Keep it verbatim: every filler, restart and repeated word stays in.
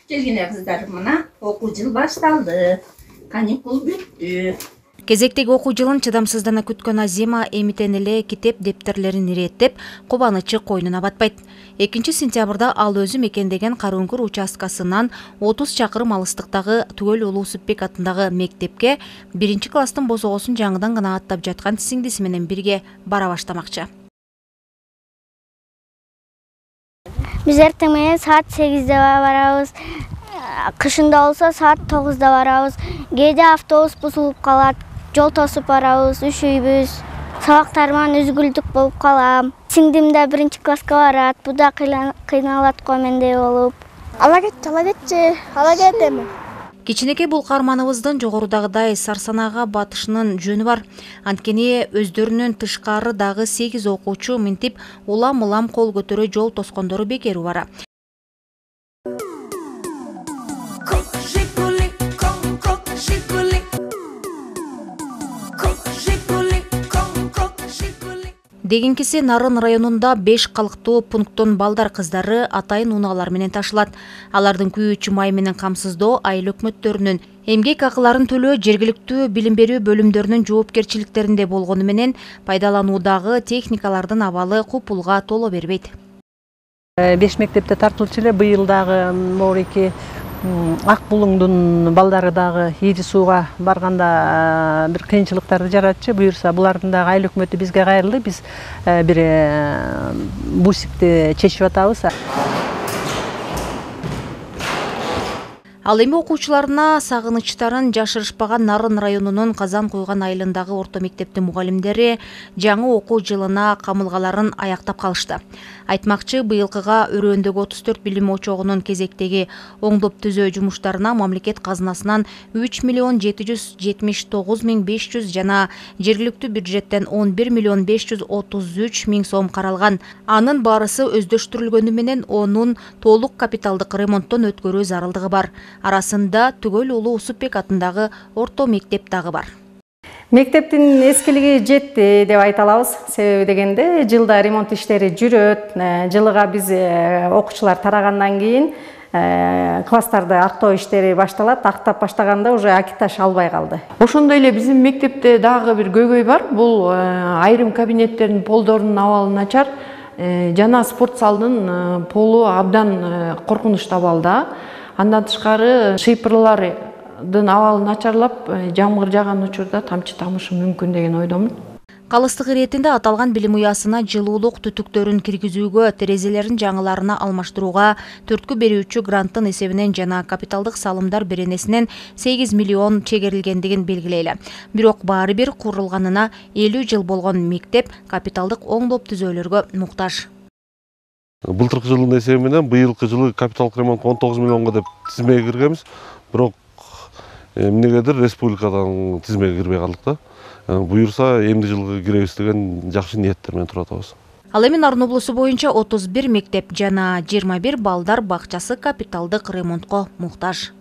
Келгиле кыздар, мына окуу жыл башталды. Каникул бүттү. Кезектеги окуу жылын чыдамсыздана күткөн Азима эмитен эле китеп дептерлерин иреттеп, кубанычы койнуна батпайт. экинчи сентябрда ал өзү мекендеген Карыөңкүр участкасынан отуз чакырым алыстыктагы Түгөл Улуу Усупбек атындагы мектепке биринчи класстын босогосун жаңыдан гана аттап жаткан сиңдиси менен бирге бара баштамакчы. Биз эртең менен саат сегизде барабыз. Кышында болсо саат тогузда барабыз. Кээде автобус бузулуп калат, жол тосуп барабыз, üşүйбүз. Сабактарыман үзгүлдүк болуп калам. Сиңдим да биринчи класска барат, бу да кыйналат го мендей болуп. Ала кетчи, ала кетчи, ала кет эми. Кичинекей бул каарманыбыздын жогорудагыдай сарсанага батышынын жөнү бар. Анткени өздөрүнүн тышкары дагы сегиз окуучу минтип улам-улам кол көтөрө жол тоскондору бекер убара. Дегенкиси Нарын районунда беш калктуу пункттон балдар кыздары атайын унаалар менен ташылат. Алардын күйүүчү май менен камсыздоо айыл өкмөттөрүнүн эмгек акыларын төлөө жергиликтүү билим берүү бөлүмдөрүнүн жоопкерчиликтеринде болгону менен пайдалануудагы техникалардын абалы купулга толо бербейт. Беш мектепте тартылчу эле быйыл дагы могуреки ак булуңдун балдары дагы ийри сууга барганда бир кыйынчылыктарды жаратчы. Буюрса булардын дагы айыл өкмөтү бизге кайрылды. Биз бир бусикти чечип атабыз. Ал эми окуучуларына сагынычтарын жашырышпаган Нарын районунун Казан Куйган айылындагы орто мектептин мугалимдери жаңы окуу жылына камылгаларын аяктап калышты. Айтмакчы, быйылкыга өрөөндөгү отуз төрт билим очогунун кезектеги оңдоп түзөө жумуштарына мамлекет казынасынан үч миллион жети жүз жетимиш тогуз миң беш жүз жана жергиликтүү бюджеттен он бир миллион беш жүз отуз үч миң сом каралган. Анын баарысы өздөштүрүлгөнү менен онун толук капиталдык ремонттон өткөрүү зарылдыгы бар. Арасында Түгөл Улуу Усупбек атындагы орто мектеп дагы бар. Мектептин эскилиги жетти деп айта алабыз. Себеби дегенде жылда ремонт иштери жүрөт. Жылыга биз окуучулар тарагандан кийин класстарды актоо иштери башталат. Актап баштаганда уже акиташ албай калды. Ошондой эле биздин мектепте дагы бир көйгөй бар. Бул айрым кабинеттердин полдорунун абалы начар. Жана спорт залдын полу абдан коркунучтуу абалда. Андан тышкары шыйпырлардын абалы начарлап, жамгыр жааган учурда тамчы тамышы мүмкүн деген ойдомун. Калыстык иретинде аталган билим уясына жылуулук түтүктөрүн киргизүүгө, терезелерин жаңыларына алмаштырууга төрткү берүүчү гранттын эсебинен жана капиталдык салымдар беренесинен сегиз миллион чегерилгендигин белгилейле. Бирок баары бир курулганына элүү жыл болгон мектеп капиталдык оңдоп түзөөлөргө муктаж. Былтыркы жылдын эсеби менен быйылкы жылы капиталдык ремонт он тогуз миллионго деп тизмеге киргенбиз. Бирок эмнегедир республикадан тизмеге кирбей калдык да. Буюрса эмди жылга киребиз деген жакшы ниеттер менен туруп атабыз. Ал эми Нарын облусу боюнча отуз бир мектеп жана жыйырма бир балдар бакчасы капиталдык ремонтко муктаж.